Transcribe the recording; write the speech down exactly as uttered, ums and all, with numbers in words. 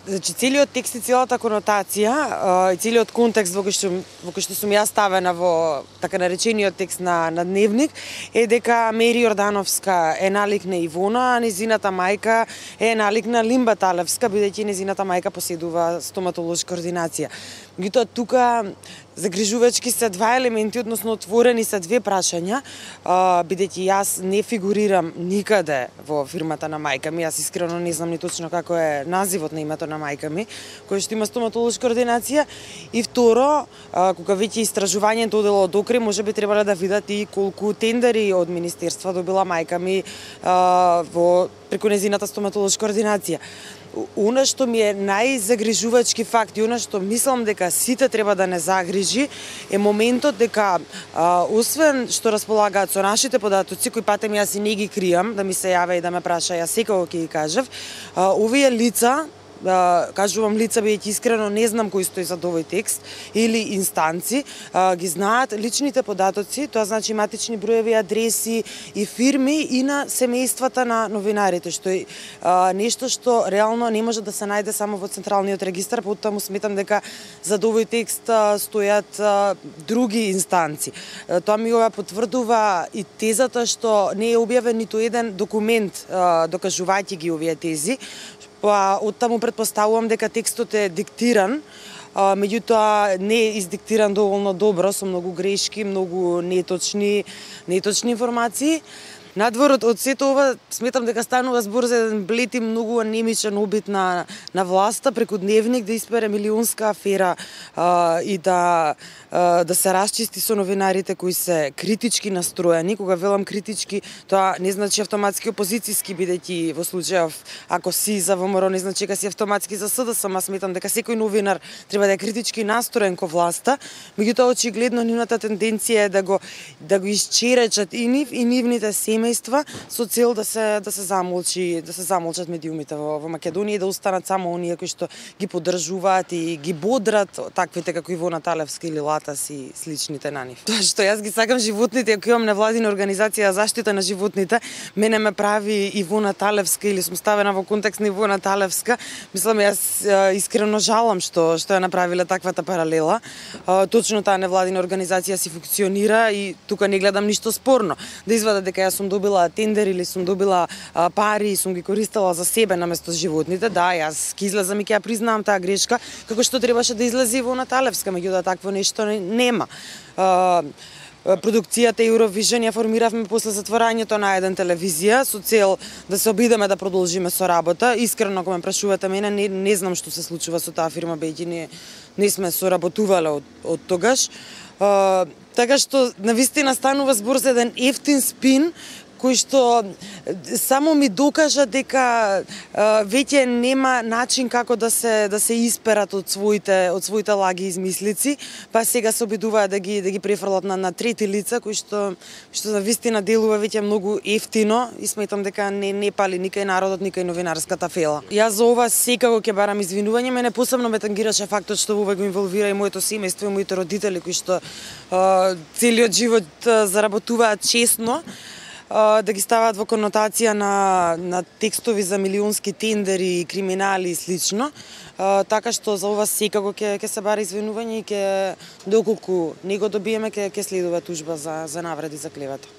Значи, целиот текст и целата конотација и целиот контекст во кој што во кој што сум ја ставена во така наречениот текст на на Дневник е дека Мери Јордановска е налик на Ивона, а незината мајка е налик на Лимба Талевска, бидејќи незината мајка поседува стоматолошка ординација. Меѓутоа тука загрижувачки се два елементи, односно отворени се две прашања, бидејќи јас не фигурирам никаде во фирмата на мајка ми, јас искрено не знам ни точно како е називот на името на мајка ми, кој што има стоматолошка ординација. И второ, кога веќе истражувањето одело докрај, можеби требале да видат и колку тендери од министерства добила мајка ми во преку незината стоматолошка ординација. Она што ми е најзагрижувачки факт и она што мислам дека сите треба да не загрижи е моментот дека а, освен што располагаат со нашите податоци, кои патем јас и не ги кријам, да ми се јаве и да ме праша, јас секако ќе ги кажав, а, овие лица, да кажувам лица, бидејќи искрено не знам кој стои зад овој текст, или инстанци, а, ги знаат личните податоци, тоа значи матични броеви, адреси и фирми и на семејствата на новинарите, што е а, нешто што реално не може да се најде само во Централниот регистар, потаму сметам дека зад овој текст а, стојат а, други инстанци. А, тоа ми го потврдува и тезата што не е објавен ниту еден документ а, докажувајќи ги овие тези. Па оттаму претпоставувам дека текстот е диктиран, а, меѓутоа не е издиктиран доволно добро, со многу грешки, многу неточни, неточни информации. Надвор од, од сето ова, сметам дека станува збор за еден блед и многу анемичен обид на, на власта преку Дневник да испере милионска афера а, и да, а, да се расчисти со новинарите кои се критички настроени. Кога велам критички, тоа не значи автоматски опозицијски, бидејќи во случајов ако си за ВМРО не значи дека си автоматски за СДС, ама сметам дека секој новинар треба да е критички настроен кон власта. Меѓутоа очигледно нивната тенденција е да го да го исчеречат и нив и нивните семејства со цел да се да се замолчи, да се замолчат медиумите во, во Македонија и да останат само оние кои што ги поддржуваат и ги бодрат таквите како Ивона Талевска или Латас и сличните на нив. Тоа што јас ги сакам животните, ако имам невладина организација за заштита на животните, мене ме прави Ивона Талевска или сум ставена во контекст на Ивона Талевска. Мислам, јас искрено жалам што што ја направиле таквата паралела. Точно таа невладина организација си функционира и тука не гледам ништо спорно. Да извадат дека јас сум добила тендер или сум добила а, пари и сум ги користела за себе наместо животните, да, јас ќе излезам и ќе ја признавам таа грешка, како што требаше да излезе Ивона Талевска, меѓутоа такво нешто нема. А, продукцијата Eurovision ја формиравме после затворањето на еден телевизија со цел да се обидеме да продолжиме со работа. Искрено, ако ме прашувате мене, не, не знам што се случува со таа фирма, бејќи не, не сме соработувале од, од тогаш. А, така што навистина станува збор за еден ефтин спин кој што само ми докажа дека а, веќе нема начин како да се да се исперат од своите од своите лаги измислици, па сега се обидуваат да ги да ги префрлат на на трети лица кои што што навистина делува веќе многу ефтино и сметам дека не не пали никај народот, никај новинарската фела. Јас за ова секако ќе барам извинување, мене посебно ме тангираше фактот што ова го инволвира и моето семејство и моите родители кои што а, целиот живот а, заработуваат честно, да ги ставаат во конотација на, на текстови за милионски тендери, криминали и слично. А, така што за ова секако ќе ќе се бара извинување и ќе доколку не го добиеме ќе ќе следува тужба за за навреди за клевета.